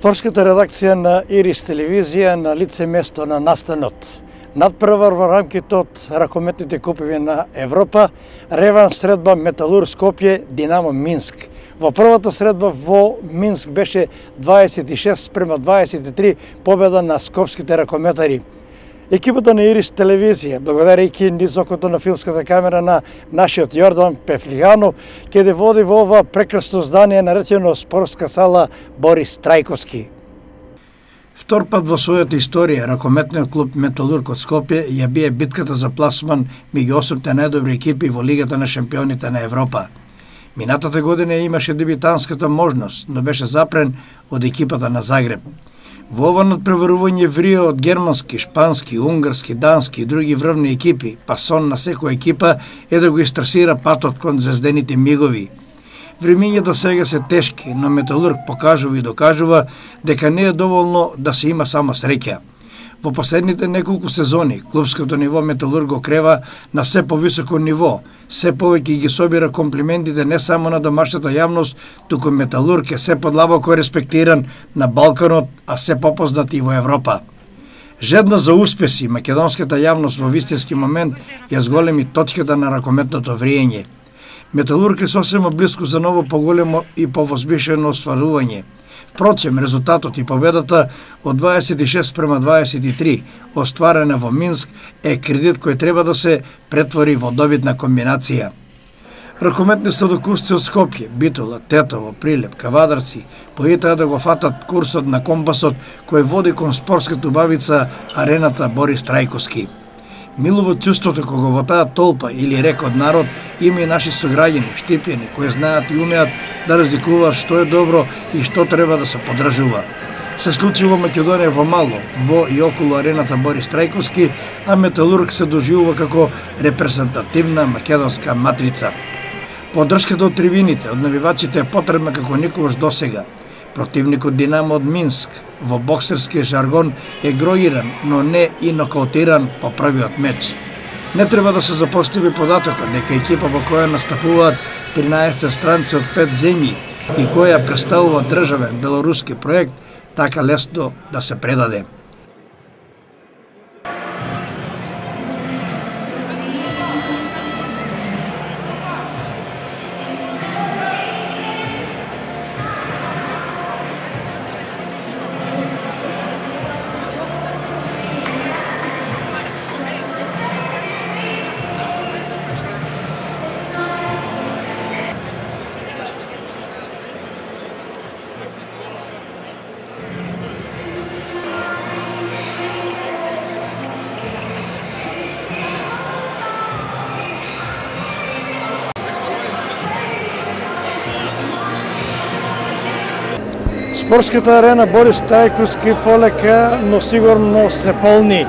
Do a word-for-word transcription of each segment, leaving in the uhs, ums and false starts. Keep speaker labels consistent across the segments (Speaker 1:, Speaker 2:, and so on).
Speaker 1: Спортската редакција на Ирис телевизија на лице место на настанот. Надпревар во рамките од ракометните купови на Европа, реванш средба Металург Скопје Динамо Минск. Во првата средба во Минск беше дваесет и шест спрема дваесет и три победа на скопските ракометари. Екипата на Ирис телевизија, благодарејќи низ окото на филмската камера на нашиот Јордан Пефлиганов, ќе да води во ова прекрасно здание наречено спортска сала Борис Трајковски. Втор пат во својата историја, ракометниот клуб Металург од Скопје ја бие битката за пласман меѓу осумте најдобри екипи во Лигата на шампионите на Европа. Минатата година имаше дебитанската можност, но беше запрен од екипата на Загреб. Во ова надпреварување врија од германски, шпански, унгарски, дански и други врвни екипи, па сон на секоја екипа е да го истрасира патот кон звездените мигови. Времињата сега се тешки, но Металург покажува и докажува дека не е доволно да се има само среќа. Во последните неколку сезони, клубското ниво Металург го крeva на се повисоко ниво, се повеќе ги собира комплиментите не само на домашната јавност, туку Металург е се подлабоко респектиран на Балканот, а се попознат и во Европа. Жедна за успеси, македонската јавност во вистински момент ја зголеми точката на ракометното вриење. Металург е сосема близко за ново поголемо и повозбишено остварување. Впрочем, резултатот и победата од дваесет и шест спрема дваесет и три, остварена во Минск, е кредит кој треба да се претвори во добитна комбинација. Ракометни сладокусци од Скопје, Битола, Тетово, Прилеп, Кавадарци, поитаа да го фатат курсот на компасот кој води кон спортската убавица арената Борис Трајковски. Милово чувството кога во таа толпа или рек од народ има и наши сограѓани, штипјани, кои знаат и умеат да разликуваат што е добро и што треба да се поддржува. Се случи во Македонија во мало, во и околу арената Борис Трајковски, а Металург се доживува како репрезентативна македонска матрица. Поддршката од трибините, од навивачите е потребна како никогаш досега. Противникот Динамо од Минск во боксерски жаргон е гроиран, но не и нокаутиран по првиот меч. Не треба да се запостави податокот дека екипа во која настапуваат тринаесет странци од пет земји и која представува државен белоруски проект, така лесно да се предаде. Спортската арена Борис Трајковски полека, но сигурно се полни.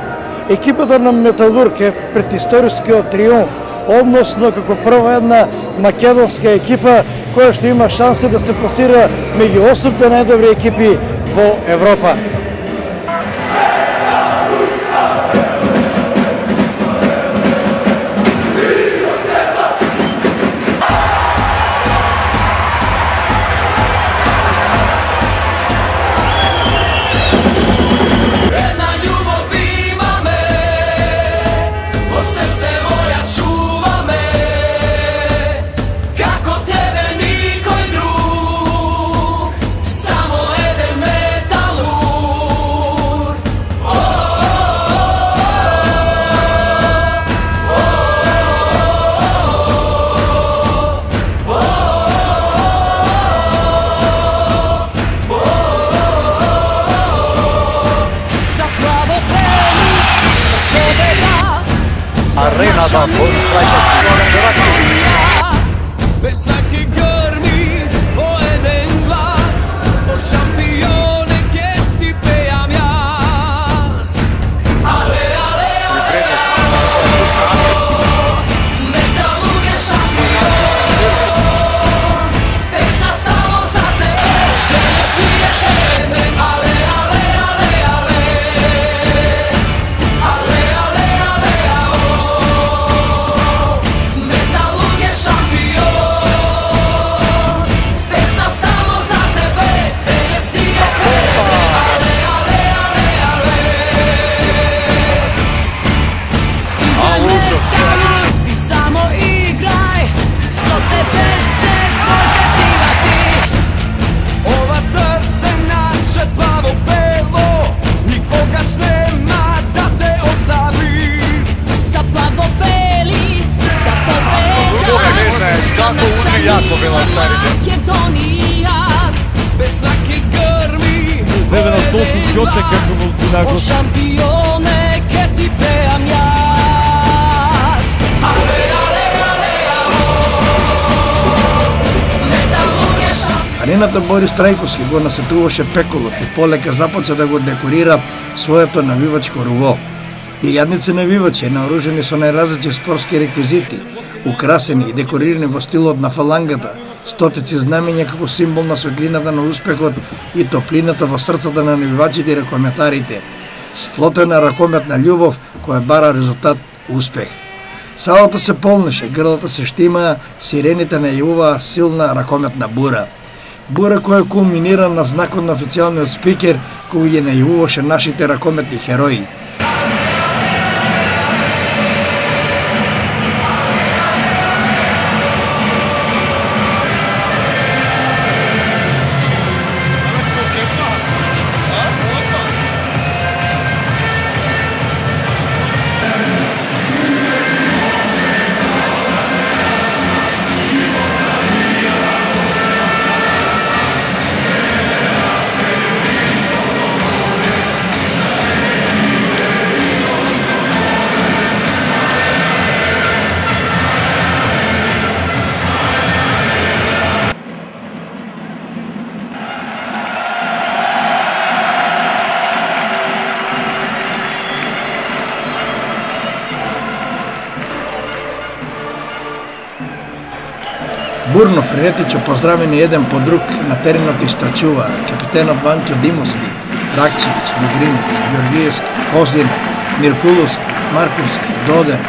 Speaker 1: Екипата на Металург е пред историскиот триумф, односно како прва една македонска екипа која што има шанса да се пласира меѓу осумте најдобри екипи во Европа.
Speaker 2: Arenada Borис Tрајковски.
Speaker 3: José que como
Speaker 4: O
Speaker 3: Finago.
Speaker 4: campione che ti preamias. Ale, ale, ale, alo. Металургија шампион.
Speaker 1: Арената Борис Трајковски го насетуваше пеколот и полека започна да го декорира своето навивачко руво. Илјадници навивачи наоружени со најразлични спортски реквизити, украсени и декорирани во стилот на фалангата, стотици знамења како символ на светлината на успехот и топлината во срцата на навивачите и ракометарите, сплотена ракометна љубов која бара резултат успех. Салата се полнеше, грлата се штимаа, сирените најавуваа силна ракометна бура. Бура која кулминира на знакот на официјалниот спикер кој ја најавуваше нашите ракометни херои. Бурно Фредетичо поздравени еден по друг на теренот истрачува капитенот Ванчо Димовски, Ракчевиќ, Мигринец, Георгиевски, Козина, Миркуловски, Марковски, Додер,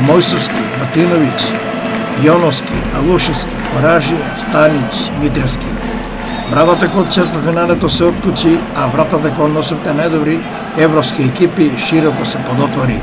Speaker 1: Мојсовски, Батиновиќ, Јоновски, Алушевски, Коражија, Станиќ, Митревски. Бравата кон четвртфиналето се отклучи, а вратата кон осумте најдобри европски екипи широко се подотвори.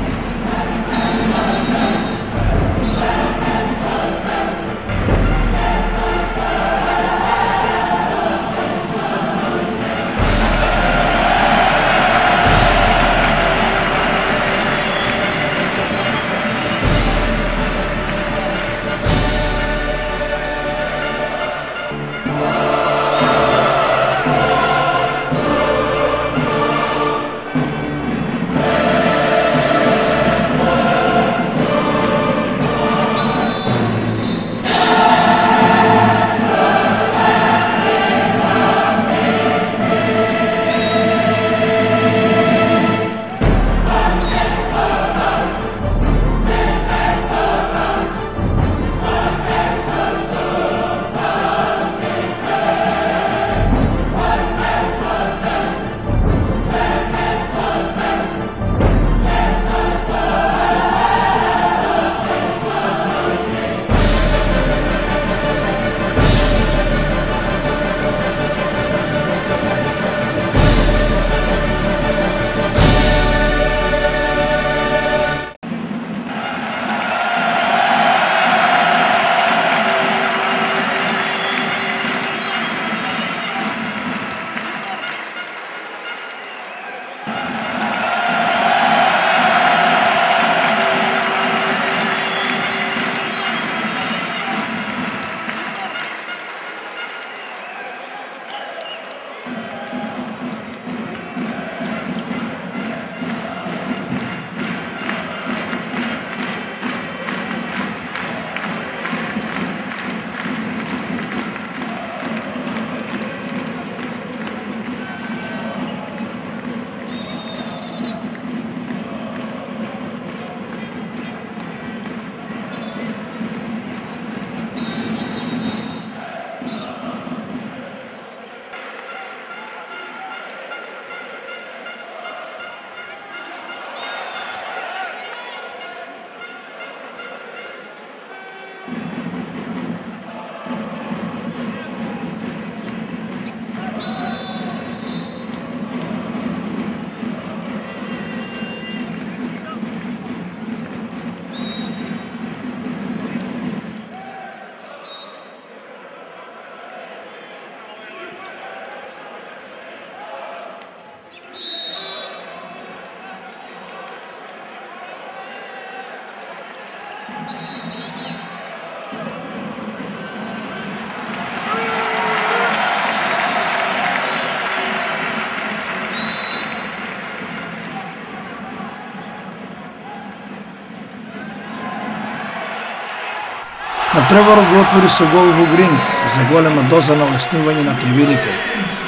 Speaker 1: Надпреварот го отвори со гол во Гринец за голема доза на олеснување на трибините.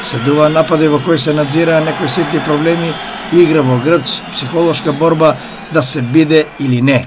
Speaker 1: Следува напади во кои се надзираа некои ситни проблеми, игра во грч, психолошка борба да се биде или не.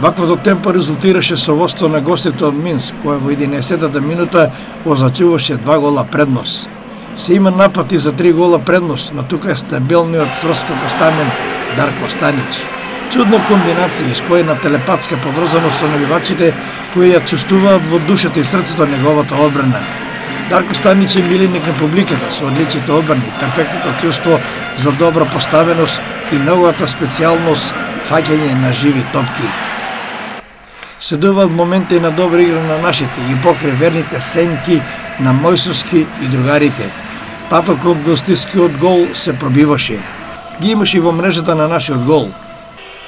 Speaker 1: Ваквото темпо резултираше со водство на гостите од Минск, која во единаесеттата минута означуваше два гола предност. Се има напад и за три гола предност, но тука е стабилниот врскокостамен Дарко Станич. Чудна комбинација и споена телепатска поврзаност со навивачите кои ја чувствуваат во душата и срцето неговата одбрана. Дарко Станич е милиник на публиката со одличните одбрани, перфектното чувство за добра поставеност и неговата специјалност фаќање на живи топки. Следуваат моменти на добра игра на нашите и покрај верните сенки на Мојсовски и другарите. Татот од гостискиот гол се пробиваше. Ги имаше и во мрежата на нашиот гол.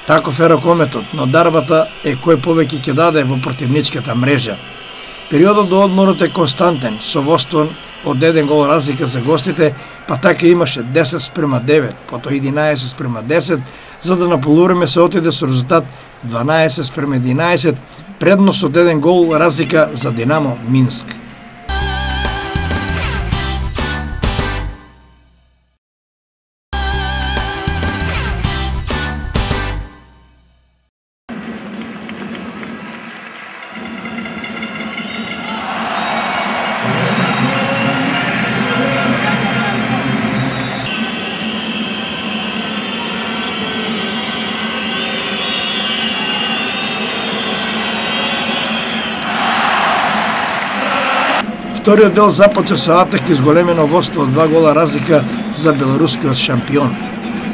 Speaker 1: Таков е ракометот, но дарбата е кој повеќе ќе даде во противничката мрежа. Периодот до одморот е константен, со водство од еден гол разлика за гостите, па така имаше десет спрема девет, потоа единаесет спрема десет, за да на полувреме се отиде со резултат дванаесет спрема единаесет, предност од еден гол разлика за Динамо Минск. Вториот дел започна со атак и зголемено водство од два гола разлика за белорускиот шампион.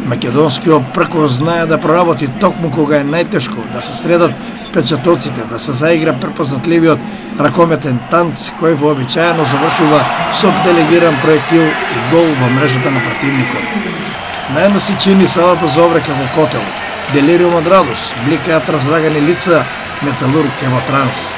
Speaker 1: Македонскиот прко знае да проработи токму кога е најтешко, да се средат печатоците, да се заигра препознатливиот ракометен танц кој вообичаено завршува со делегиран проектил и гол во мрежата на противникот. Најдна се чини салата за обрек како котел. Делириум од радост, бликаат разрагани лица, Металург е во транс.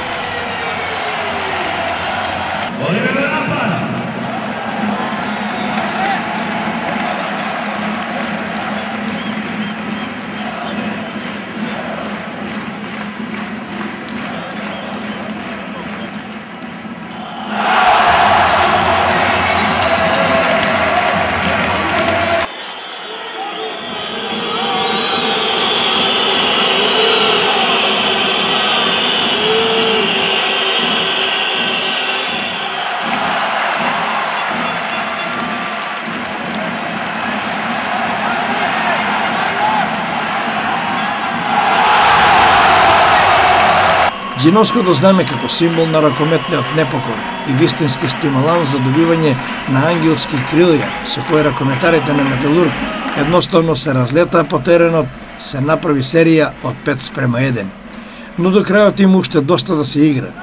Speaker 1: Ѓиновското знаме како символ на ракометниот непокор и вистински стимуланс за добивање на ангелски крилја, со кои ракометарите на Металург едноставно се разлетаа по теренот, се направи серија од пет спрема еден. Но до крајот има уште доста да се игра.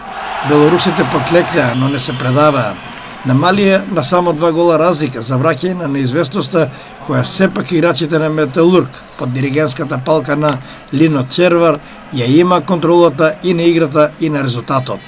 Speaker 1: Белорусите поклеклеа, но не се предаваа. Намалија на само два гола разлика за враќање на неизвестноста која сепак играчите на Металург под диригентската палка на Лино Червар ја има контролата и на играта и на резултатот.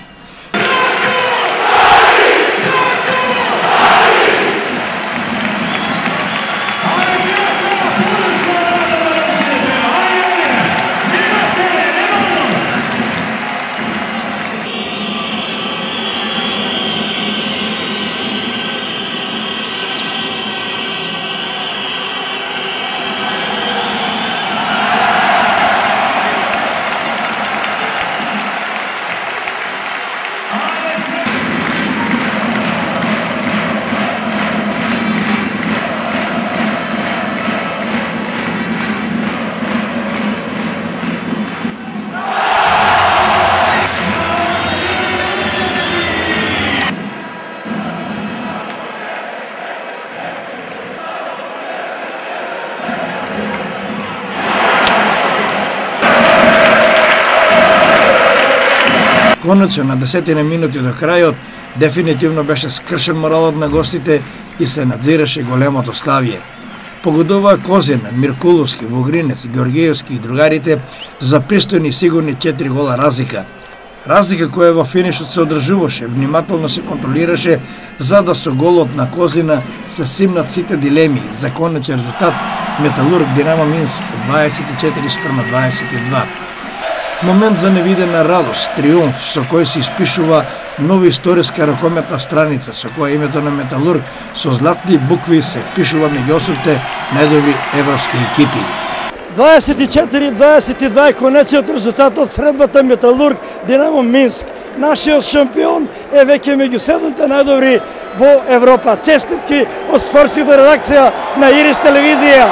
Speaker 1: Конечно, на десетина минути до крајот, дефинитивно беше скршен моралот на гостите и се надзираше големото славие. Погодуваа Козина, Миркуловски, Вогринец, Георгиевски и другарите за пристојни и сигурни четири гола разлика. Разлика која во финишот се одржуваше, внимателно се контролираше за да со голот на Козина се симнат сите дилеми за конечен резултат Металург Динамо Минск дваесет и четири спрема дваесет и два. Момент за невидена радост, триумф со кој се испишува нова историска ракометна страница со која името на Металург со златни букви се впишува меѓу осумте најдобри европски екипи.
Speaker 3: дваесет и четири дваесет и два е конечниот резултат од средбата Металург Динамо Минск. Нашиот шампион е веќе меѓу седумте најдобри во Европа. Честитки од спортската редакција на Ирис телевизија.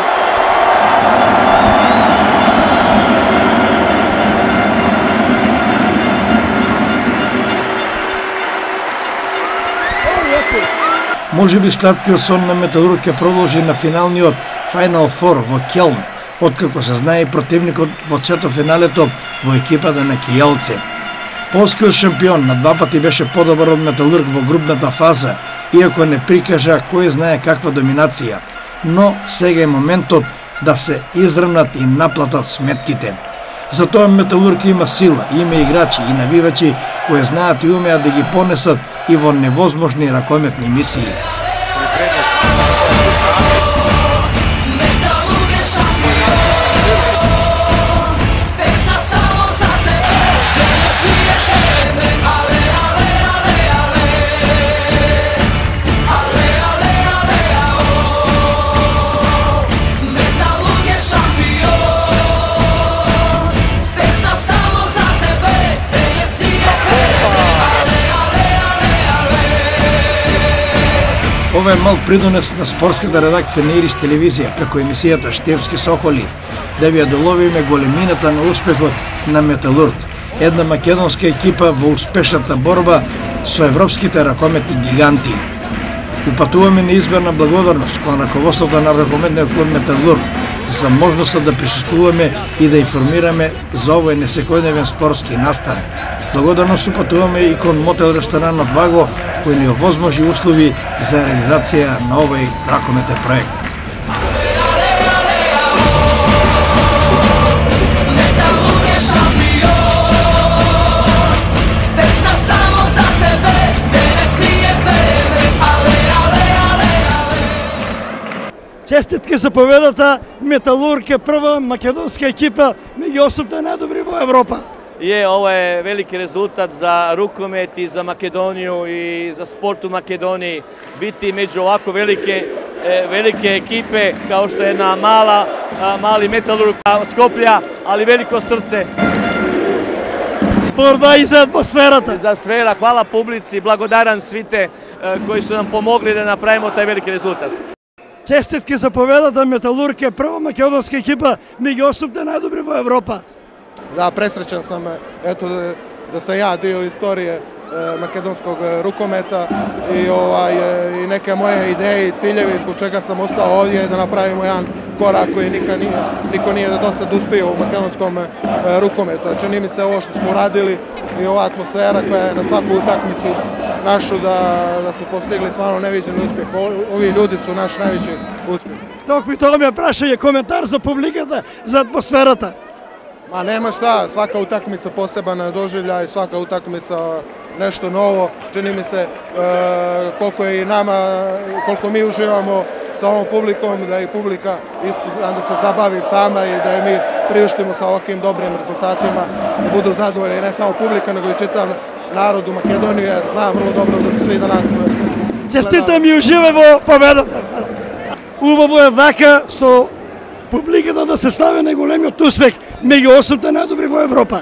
Speaker 1: Може би сладкиот сон на Металург ќе продолжи на финалниот Final Four во Келн, откако се знае противникот во четвртфиналето во екипата на Кијалце. Полскиот шампион на два пати беше подобар од Металург во групната фаза, иако не прикажа кој знае каква доминација. Но сега е моментот да се изравнат и наплатат сметките. Затоа Металург има сила, има играчи и навивачи кои знаат и умеат да ги понесат и во невозможни ракометни мисии. Ова е мал придонес на спортската редакција на Ирис телевизија преку емисијата Штевски Соколи, да ви ја доловиме големината на успехот на Металург, една македонска екипа во успешната борба со европските ракометни гиганти. Упатуваме неизберна благодарност кон раководството на ракометниот клуб Металург за можноста да присуствуваме и да информираме за овој несекојдневен спортски настан. Благодарност упатуваме и кон мотел ресторанот Ваго, кој ни овозможи услови за реализација на овој ракометен проект.
Speaker 3: Честитки за победата. Металург е прва македонска екипа меѓу осумте најдобри во Европа.
Speaker 5: Je, ovo je veliki rezultat za rukomet i za Makedoniju i za sport u Makedoniji. Biti među ovako velike, velike ekipe kao što je jedna mala, mali Metalurg Skoplja, ali veliko srce.
Speaker 3: Спорта и за атмосферата.
Speaker 5: За сфера, hvala publici, blagodaran svite koji su nam pomogli da napravimo taj veliki rezultat.
Speaker 3: Честитки за победата. Металург е прва македонска екипа меѓу осумте најдобри во Европа.
Speaker 6: Da, presrećan sam eto, da sam ja dio istorije e, makedonskog rukometa i, ovaj, e, i neke moje ideje i ciljevi zbog čega sam ostao ovdje da napravimo jedan korak koji nikad nije, niko nije do sad uspio u makedonskom e, rukometu. Čini mi se ovo što smo radili i ova atmosfera koja je na svaku utakmicu našu da, da smo postigli stvarno neviđen uspjeh. Ovi ljudi su naš najveći uspjeh.
Speaker 3: Ток ми тоа ми е прашање, коментар за публиката, за атмосферата.
Speaker 6: Ma nema šta, svaka utakmica poseban doživljaj, svaka utakmica nešto novo. Čini mi se e, koliko je i nama, koliko mi uživamo sa ovom publikom, da i publika isto da se zabavi sama i da je mi priuštimo sa ovakvim dobrim rezultatima, da budu zadovoljni ne samo publika, nego i čitav narod u Makedoniji, jer znam vrlo dobro da su svi danas...
Speaker 3: Честитам и уживај во победата. Убаво е вака со публиката да се слави на големиот успех меѓу осумте најдобри во Европа.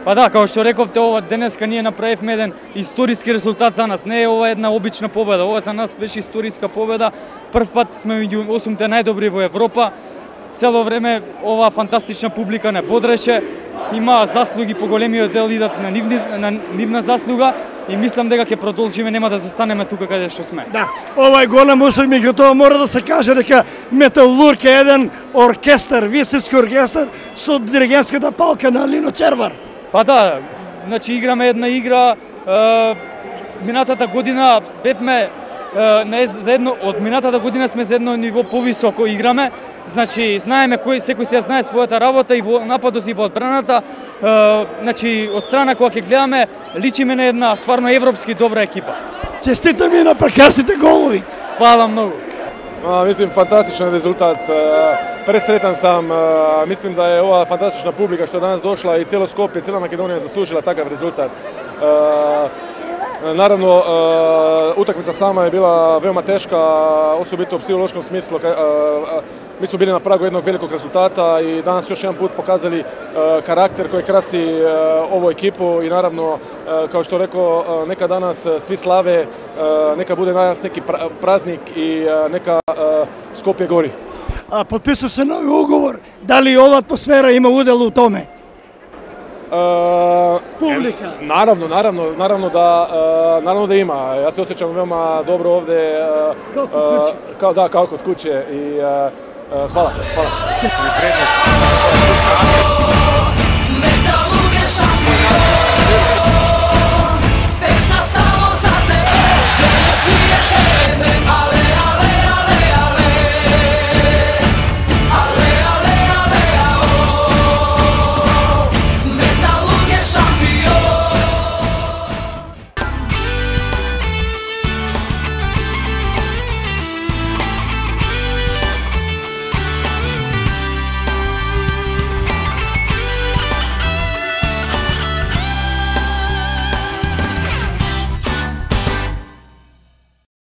Speaker 7: Па да, како што рековте, ова денеска ние направивме еден историски резултат за нас. Не е ова една обична победа, ова за нас беше историска победа. Прв пат сме меѓу осумте најдобри во Европа. Цело време ова фантастична публика не бодреше. Има заслуги по големиот дел идат на, нивни, на нивна заслуга и мислам дека ќе продолжиме, нема да застанеме тука каде што сме.
Speaker 3: Да, ова е голем успех, меѓутоа мора да се каже дека Металург е еден оркестар, високи оркестар со диригентската палка на Лино Червар.
Speaker 7: Па да, значи играме една игра, е, минатата година бевме е, не, за едно, од минатата година сме за едно ниво повисоко играме, значи знаеме кој секој се знае својата работа и во нападот и во одбраната, е, значи од страна кога ќе гледаме личиме на една стварно европски добра екипа.
Speaker 3: Честитам и на прекрасните голови.
Speaker 7: Фала многу.
Speaker 8: A, mislim, fantastičan rezultat, presretan sam, mislim da je ova fantastična publika što je danas došla i cijelo Skopje, cijela Makedonija zaslužila takav rezultat. Naravno, utakmica sama je bila veoma teška, osobito u psihološkom smislu. Mi smo bili na pragu jednog velikog rezultata i danas još jedan put pokazali karakter koji krasi ovu ekipu i naravno, kao što rekao, neka danas svi slave, neka bude danas neki praznik i neka Skopje gori.
Speaker 3: А подписува се нови уговор. Дали ова атмосфера има удел у томе?
Speaker 8: Uh,
Speaker 3: Publika.
Speaker 8: Naravno, naravno, naravno da, uh, naravno da ima. Ja se osjećam veoma dobro ovde. Uh,
Speaker 3: kao kod kuće.
Speaker 8: Uh, kao, da, kao kod kuće. I, uh, uh, hvala, hvala.